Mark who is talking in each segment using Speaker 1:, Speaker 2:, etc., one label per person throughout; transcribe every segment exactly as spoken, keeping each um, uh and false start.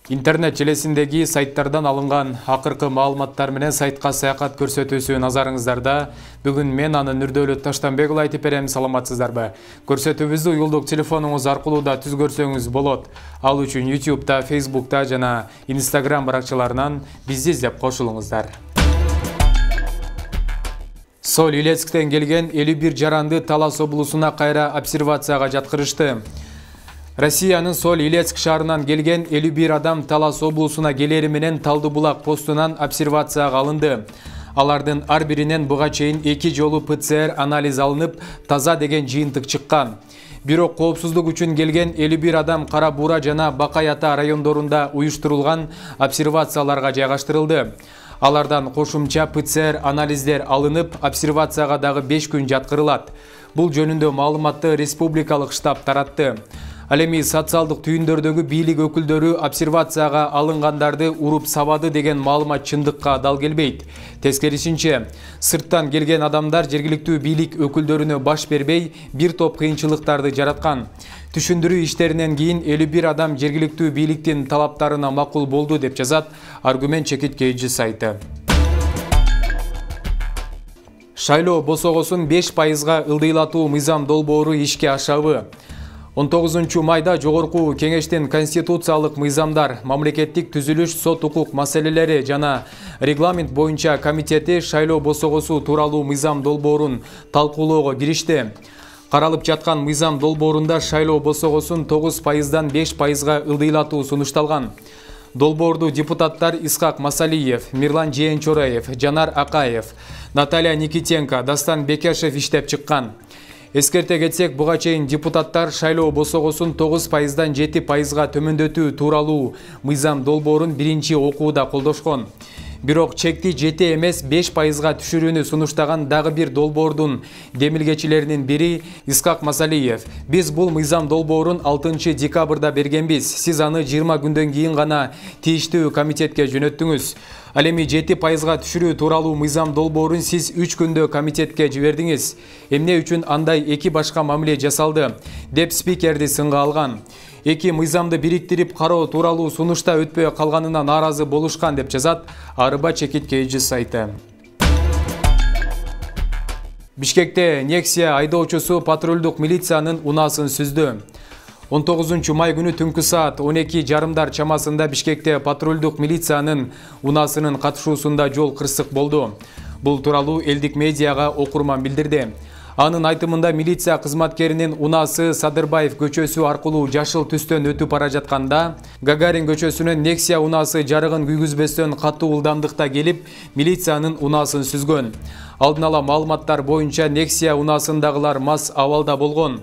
Speaker 1: Интернет желесиндеги сайттардан алынган акыркы маалыматтар менен сайтка саякат көрсөтүүсү назарыңыздарда. Бүгүн мен аны Нурдөлөт Таштанбек уулу айтып берем, саламатсыздарбы? Көрсөтүүбүздү уюлдук телефонуңуз аркылуу да түз көрсөңүз болот. Ал үчүн ютубта, фейсбукта жана инстаграм баракчаларынан бизди издеп кошулуңуздар. Соль Илецктен келген элүү бир жаранды Талас облусуна кайра обсервацияга жаткырышты. Россиянын Соль Илецк шаарынан келген элүү бир адам Талас облусуна келери менен Талдыбулак постунан обсервацияга алынды. Алардын ар биринен буга чейин эки жолу пэ цэ эр анализ алынып, таза деген жыйынтык чыккан. Бирок коопсуздук үчүн келген элүү бир адам Кара Буура жана Бакай Ата райондорунда уюштурулган обсервацияларга жайгаштырылды. Алардан кошумча пэ цэ эр анализдер алынып, обсервацияга дагы беш күн жаткырылат. Бул жөнүндө маалыматты республикалык штаб таратты. Ал эми социалдык түйүндөрдөгү бийлик өкүлдөрү обсервацияга алынгандарды уруп сабады деген маалымат чындыкка дал келбейт. Тескерисинче, сырттан келген адамдар жергиликтүү бийлик өкүлдөрүнө баш бербей, бир топ кыйынчылыктарды жараткан. Түшүндүрүү иштеринен кийин элүү бир адам жергиликтүү бийликтин талаптарына макул болду деп жазат Аргумент чекиткейчи сайты. Шайлоо босогосун беш пайызга ылдыйлатуу мыйзам долбоору ишке ашабы. он тогузунчу майда Жогорку Кеңештин конституциялык мыйзамдар, мамлекеттик түзүлүш, сот укук маселелери жана регламент боюнча комитети шайлоо босогосу тууралуу мыйзам долбоорун талкуулоого киришти. Каралып жаткан мыйзам долбоорунда шайлоо босогосун тогуз пайыздан беш пайызга ылдыйлатуу сунушталган. Долбоорду депутаттар Исхак Масалиев, Мирлан Жээнчораев, Жанар Акаев, Наталья Никитенко, Дастан Бекешев иштеп чыккан. Эскерте кетсек, буга чейин депутаттар шайлоо босогосун тогуз пайыздан жети пайызга төмөндөтүү тууралуу мыйзам долбоорун биринчи окууда колдошкон. Бирок чекти жети эмес беш пайызга түшүрүүнү сунуштаган дагы бир долбоордун демилгечилеринин бири Исхак Масалиев. Биз бул мыйзам долбоорун алтынчы декабрда бергенбиз. Сиз аны жыйырма күндөн кийин гана тийиштүү комитетке жөнөттүңүз. Ал эми жети пайызга түшүрүү тууралуу мыйзам долбоорун сиз үч күндө комитетке жибердиңиз. Эмне үчүн андай эки башка мамиле жасалды, деп спикерди сынга алган. Эки мыйзамды бириктирип кароо тууралуу сунушта өтпөй калганына нааразы болушкан деп жазат Арыба чекиткейчи сайты. Бишкекте Нексия айдоочусу патрулдук милициянын унаасын сүздү. он тогузунчу май күнү түнкү саат он эки жарымдар чамасында Бишкекте патрулдук милициянын унаасынын катышуусунда жол кырсык болду. Бул тууралуу элдик медиага окурман билдирди. Анын айтымында милиция кызматкеринин унаасы Садырбаев көчөсү аркылуу жашыл түстөн өтүп бара жатканда, Гагарин көчөсүнөн Нексия унаасы жарыгын күйгүзбөстөн катуу ылдамдыкта келип, милициянын унаасын сүзгөн. Алдын ала маалыматтар боюнча Нексия унаасындагылар мас абалда болгон.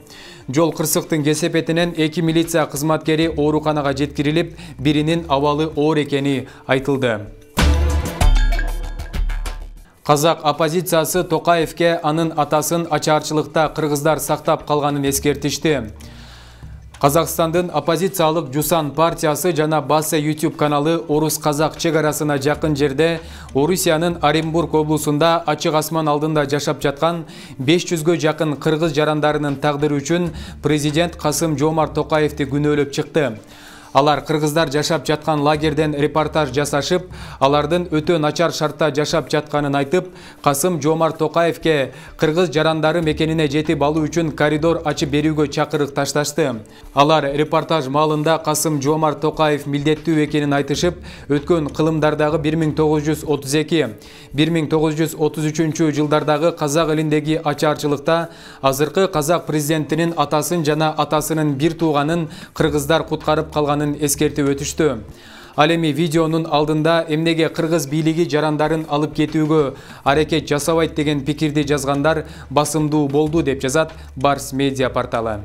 Speaker 1: Жол кырсыктын кесепетинен эки милиция кызматкери ооруканага жеткирилип, биринин абалы оор экени айтылды. Казак оппозициясы Токаевке анын атасын ачаарчылыкта кыргыздар сактап калганын эскертишти. Казакстандын оппозициялык Жусан партиясы жана Басе YouTube каналы орус-казак чек арасына жакын жерде Орусиянын Оренбург облусунда ачык асман алдында жашап жаткан беш жүзгө жакын кыргыз жарандарынын тагдыры үчүн президент Касым Жомарт Токаевди күнөөлөп чыкты. Алар кыргыздар жашап жаткан лагерден репортаж жасашып, алардын өтө начар шартта жашап жатканын айтып, Касым Жомарт Токаевке кыргыз жарандары мекенине жетип алуу үчүн коридор ачып берүүгө чакырык ташташты. Алар репортаж маалында Касым Жомарт Токаев милдеттүү экенин айтышып, өткөн кылымдардагы бир миң тогуз жүз отуз эки — бир миң тогуз жүз отуз үчүнчү жылдардагы казак элиндеги ачаарчылыкта азыркы казак президентинин атасын жана атасынын бир тууганын кыргыздар куткарып калганын эскертип өтүштү. Ал эми видеонун алдында эмнеге кыргыз бийлиги жарандарын алып кетүүгө аракет жасабайт деген пикирди жазгандар басымдуу болду деп жазат Барс медиа порталы.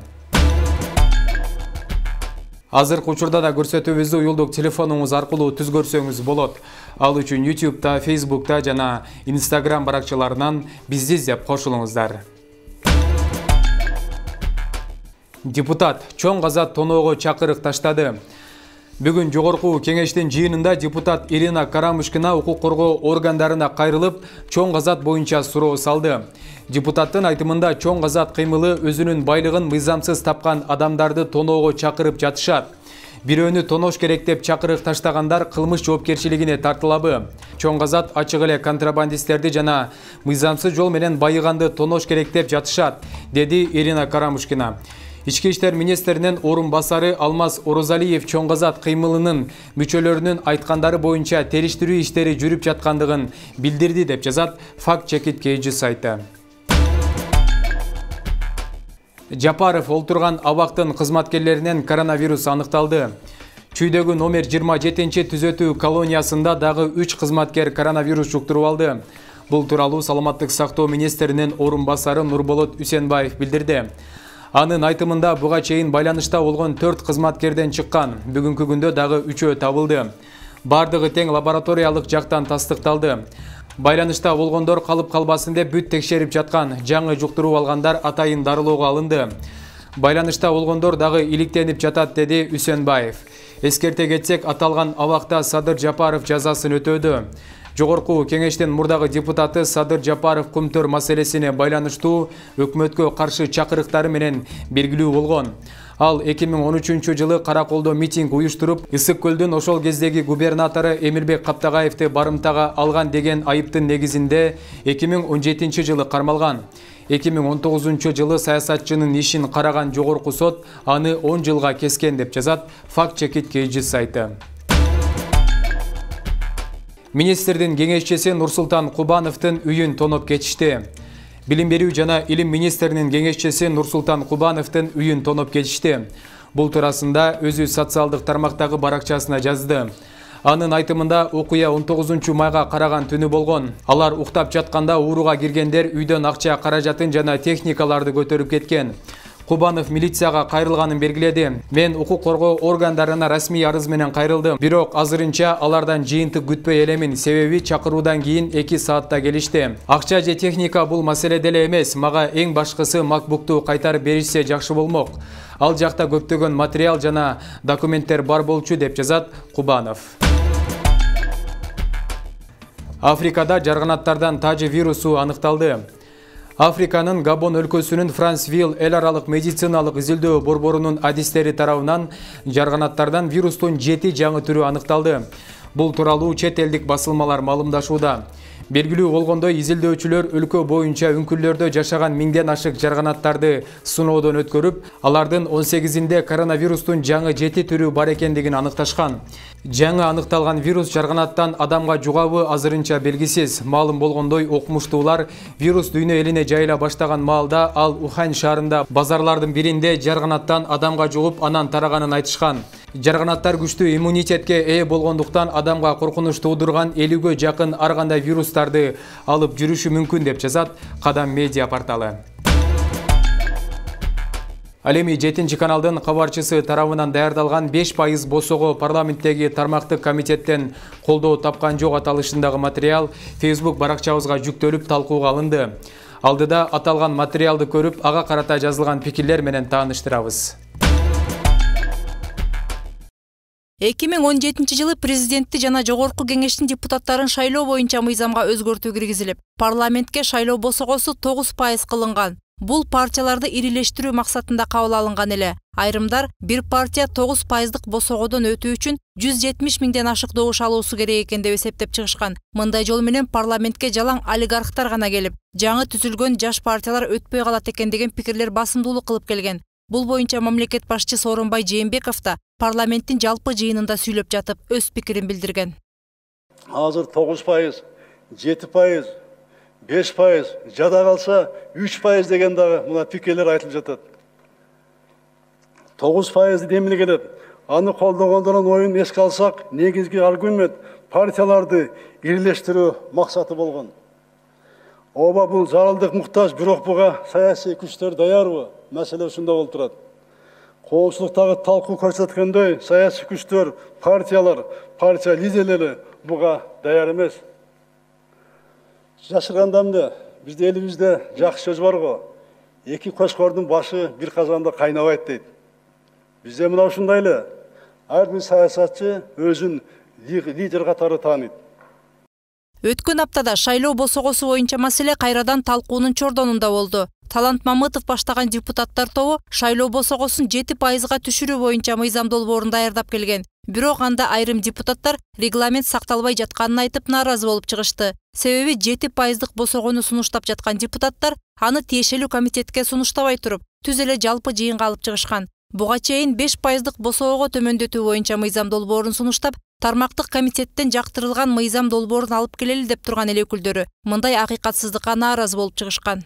Speaker 1: Азыркы учурда да көрсөтүүбүздү уюлдук телефонуңуз аркылуу түз көрсөңүз болот. Ал үчүн ютубта, фейсбукта жана инстаграм баракчаларынан бизди издеп кошулуңуздар. Депутат чоң газат тоноого чакырык таштады. Бүгүн Жогорку Кеңештин жыйынында депутат Ирина Карамушкина укук коргоо органдарына кайрылып, чоң газат боюнча суроо салды. Депутаттын айтымында чоң газат кыймылы өзүнүн байлыгын мыйзамсыз тапкан адамдарды тоноого чакырып жатышат. Бирөөнү тонош керек деп чакырык таштагандар кылмыш жоопкерчилигине тартылабы? Чоң Казат ачык эле контрабандисттерди жана мыйзамсыз жол менен байыганды тонош керек деп жатышат, деди Ирина Карамушкина. Ички иштер министринин орун басары Алмаз Орозалиев Чоң Казат кыймылынын мүчөлөрүнүн айткандары боюнча териштирүү иштери жүрүп жаткандыгын билдирди деп жазат Факт Чекит Кейджи сайты. Жапаров олтурган абактын кызматкерлеринен коронавирус аныкталды. Чүйдөгү номер жыйырма жетинчи түзөтүү колониясында дагы үч кызматкер коронавирус жуктуруп алды. Бул тууралуу Саламаттык сактоо министринин орун басары Нурболот Үсенбаев билдирди. Анын айтымында буга чейин байланышта болгон төрт кызматкерден чыккан, бүгүнкү күндө дагы үчөө табылды. Бардыгы тең лабораториялык жактан тастыкталды. Байланышта болгондор калып калбасын деп бүт текшерип жаткан, жаңы жуктуруп алгандар атайын дарылоого алынды. Байланышта болгондор дагы иликтенип жатат, деди Үсенбаев. Эскерте кетсек, аталган абакта Садыр Жапаров жазасын өтөөдө. Жогорку кеңештин мурдагы депутаты Садыр Жапаров Кумтөр маселесине байланыштуу өкмөткө каршы чакырыктары менен белгилүү болгон. Ал эки миң он үчүнчү жылы Караколдо митинг уюштуруп, Ысык көлдүн ошол кездеги губернатору Эмирбек Каптагаевди барымтага алган деген айыптын негизинде эки миң он жетинчи жылы кармалган. эки миң он тогузунчу жылы саясатчынын ишин караган жогорку сот аны он жылга кескен деп жазат Факт Чекит Кейджи сайты. Министрдин кеңешчиси Нурсултан Кубановдун үйүн тоноп кетишти. Билим берүү жана илим министринин кеңешчиси Нурсултан Кубановдун үйүн тоноп кетишти. Бул туурасында өзү социалдык тармактагы баракчасына жазды. Анын айтымында окуя он тогузунчу майга караган түнү болгон. Алар уктап жатканда ууруга киргендер үйдөн акча, каражатын жана техникаларды көтөрүп кеткен. Кубанов милицияга кайрылганын белгиледи. Мен укук коргоо органдарына расмий арыз менен кайрылдым. Бирок азырынча алардан жыйынтык күтпөй элемин, себеби чакыруудан кийин эки саатта келишти. Акча же техника бул маселе деле эмес. Мага эң башкысы макбукту кайтарып беришсе жакшы болмок. Ал жакта көптөгөн материал жана документтер бар болчу, деп жазат Кубанов. Африкада жарганаттардан тажы вирусу аныкталды. Африканын Габон өлкөсүнүн Франсвилл эл аралык медициналык изилдөө борборунун адистери тарабынан жарганаттардан вирустун жети жаңы түрү аныкталды. Бул тууралуу чет элдик басылмалар маалымдашууда. Белгилүү болгондой, изилдөөчүлөр өлкө боюнча үңкүрлөрдө жашаган миңден ашык жарганаттарды сыноодон өткөрүп, алардын он сегизинде коронавирустун жаңы жети түрү бар экендигин аныкташкан. Жаңы аныкталган вирус жарганаттан адамга жугабы азырынча белгисиз. Маалым болгондой, окумуштуулар вирус дүйнө элине жайыла баштаган маалда ал Ухань шаарында базарлардын биринде жарганаттан адамга жугуп, анан тараганын айтышкан. Жарганаттар күчтүү иммунитетке ээ болгондуктан адамга коркунуч туудурган элүүгө жакын ар кандай вирустарды алып жүрүшү мүмкүн, деп жазат Кадам медиа порталы. Ал эми жетинчи каналдын кабарчысы тарабынан даярдалган беш пайыз босого парламенттеги тармактык комитеттен колдоо тапкан жок аталышындагы материал Facebook баракчабызга жүктөлүп талкууга алынды. Алдыда аталган материалды көрүп, ага карата жазылган пикирлер менен тааныштырабыз.
Speaker 2: эки миң он жетинчи жылы президентти жана жогорку кеңештин депутаттарын шайлоо боюнча мыйзамга өзгөртүү киргизилип, парламентке шайлоо босогосу тогуз пайыз кылынган. Бул партияларды ирилештирүү максатында кабыл алынган эле. Айрымдар бир партия тогуз пайыздык босогодон өтүү үчүн жүз жетимиш миңден ашык добуш алуусу керек экен деп эсептеп чыгышкан. Мындай жол менен парламентке жалаң олигархтар гана келип, жаңы түзүлгөн жаш партиялар өтпөй калат экен деген пикирлер басымдуулук кылып келген. Бул боюнча мамлекет башчысы Сооронбай Жээнбеков да парламенттин жалпы жыйынында сүйлөп жатып өз пикирин билдирген.
Speaker 3: Азыр тогуз пайыз, жети пайыз, беш пайыз, жада калса үч пайыз деген дагы мына пикирлер айтылып жатат. тогуз пайыз демиле келет. Аны колдогондордун оюн эске алсак, негизги аргумент партияларды ирилештирүү максаты болгон. Оба бул зарылдык муктаж, бирок буга саясий күчтөр даярбы? Маселе ушунда болуп турат. Коомчулуктагы талкуу көрсөткөндөй, саясий күчтөр, партиялар, партия лидерлери буга даяр эмес. Жашырганда эмне? Бизде элибизде жакшы сөз бар го. Эки көчкөрдүн башы бир казанда кайнабайт дейт. Бизде мына ушундай эле. Ар бир саясатчы өзүн лидер катары тааныйт.
Speaker 2: Өткөн аптада шайлоо босогосу боюнча маселе кайрадан талкуунун чордонунда болду. Талант Мамытов баштаган депутаттар тобу шайлоо босогосун жети пайызга түшүрүү боюнча мыйзам долбоорун даярдап келген. Бирок анда айрым депутаттар регламент сакталбай жатканын айтып нааразы болуп чыгышты. Себеби жети пайыздык босогону сунуштап жаткан депутаттар аны тиешелүү комитетке сунуштабай туруп, түз эле жалпы жыйынга алып чыгышкан. Буга чейин беш пайыздык босоого төмөндөтүү боюнча мыйзам долбоорун сунуштап, тармактык комитеттен жактырылган мыйзам долбоорун алып келели деп турган эл өкүлдөрү мындай акыйкатсыздыкка нааразы болуп чыгышкан.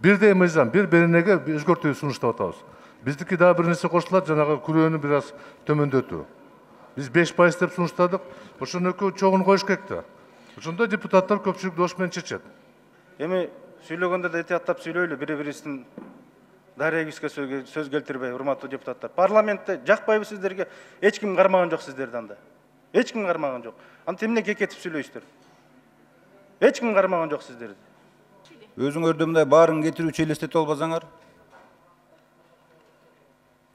Speaker 4: Бирдей мыйзам, бир беренеге өзгөртүү сунуштап атабыз. Биздики дагы бир нерсе кошулат, жанагы күрөөнү бир аз төмөндөтүү. Биз беш пайыз деп сунуштадык, ошону экөө чогун коюш керек да. Ошондо депутаттар көпчүлүк дош менен чечет.
Speaker 5: Эми сүйлөгөндө да этияттап сүйлөйлү, бири-бирибиздин дарегибизге сөз келтирбей, урматтуу депутаттар. Парламентте жакпайбы сиздерге? Эч ким кармаган жок сиздерди анда. Эч ким кармаган жок. Анда эмне кекетип сүйлөйсүздөр? Эч ким кармаган жок сиздерди.
Speaker 6: Өзүңөрдө мындай баарын кетирүүчү элестетип албасаңар,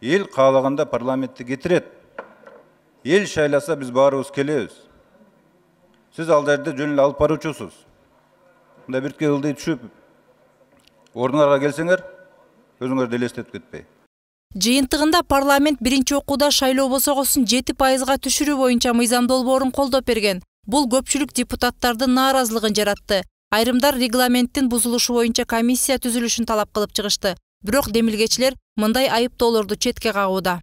Speaker 6: эл каалаганда парламентти кетирет. Эл шайласа биз баарыбыз келебиз. Сиз ал жерде жөн эле алып баруучусуз. Мындай бирке ылдый түшүп, ордуңарга келсеңер, өзүңөрдү элестетип кетпей.
Speaker 2: Жыйынтыгында парламент биринчи окууда шайлоо босогосун жети пайызга түшүрүү боюнча мыйзам долбоорун колдоп берген. Бул көпчүлүк депутаттардын нааразылыгын жаратты. Айрымдар регламенттин бузулушу боюнча комиссия түзүлүшүн талап кылып чыгышты. Бирок демилгечилер мындай айыптоолорду четке кагууда.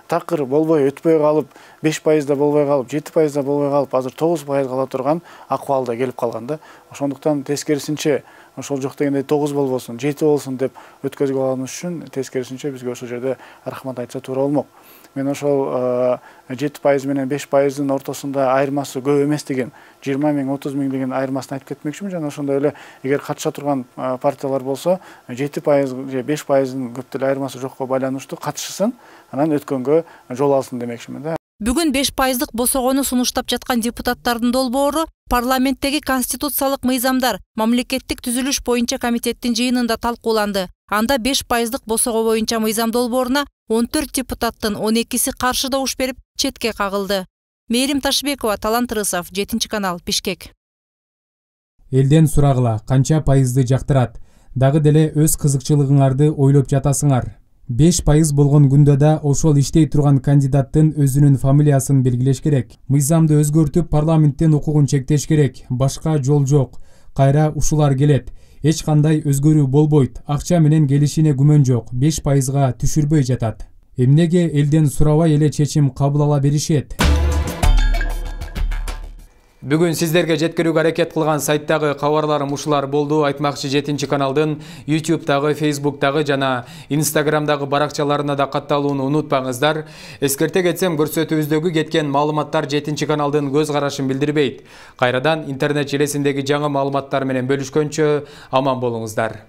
Speaker 7: Такыр болбой өтпөй калып, беш пайызда болбой калып, жети пайызда болбой калып, азыр тогуз пайыз кала турган акыбалда келип калганда. Ошондуктан тескерисинче ошол жок дегенде тогуз болбосун, жети болсун деп өткөзүп алганыбыз үчүн тескерисинче бизге ошол жерде рахмат айтса туура болмок. Мен ошол жети пайыз менен беш пайыздын ортосунда айырмасы көп эмес деген, жыйырма миң, отуз миң деген айырмасын айтып кетмекчимин. Жана ошондой эле эгер катыша турган партиялар болсо, жети пайыз же беш пайыздын көп деле айырмасы жокко байланыштуу катышсын, анан өткөнгө жол алсын демекчимин да.
Speaker 2: Бүгүн беш пайыздык босогону сунуштап жаткан депутаттардын долбоору парламенттеги конституциялык мыйзамдар мамлекеттик түзүлүш боюнча комитеттин жыйынында талкууланды. Анда беш пайыздык босого боюнча мыйзам долбооруна он төрт депутаттын он экиси каршы добуш берип, четке кагылды. Мээрим Ташбекова, Талант Рысов, жетинчи канал, Бишкек.
Speaker 1: Элден сурагыла, канча пайызды жактырат? Дагы деле өз кызыкчылыгыңарды ойлоп жатасыңар. беш пайыз болгон күндө да ошол иштей турган кандидаттын өзүнүн фамилиясын белгилеш керек. Мыйзамды өзгөртүп, парламенттен укугун чектеш керек. Башка жол жок. Кайра ушулар келет. Эч кандай өзгөрүү болбойт. Акча менен келишине күмөн жок. беш пайызга түшүрбөй жатат. Эмнеге элден сурабай эле чечим кабыл ала беришет? Бүгүн сиздерге жеткирүүгө аракет кылган сайттагы кабарларым ушулар болду. Айтмакчы жетинчи каналдын ютубтагы, фейсбуктагы жана инстаграмдагы баракчаларына да катталууну унутпаңыздар. Эскерте кетсем, көрсөтүүбүздөгү кеткен маалыматтар жетинчи каналдын көз карашын билдирбейт. Кайрадан интернет желесиндеги жаңы маалыматтар менен бөлүшкөнчө аман болуңуздар.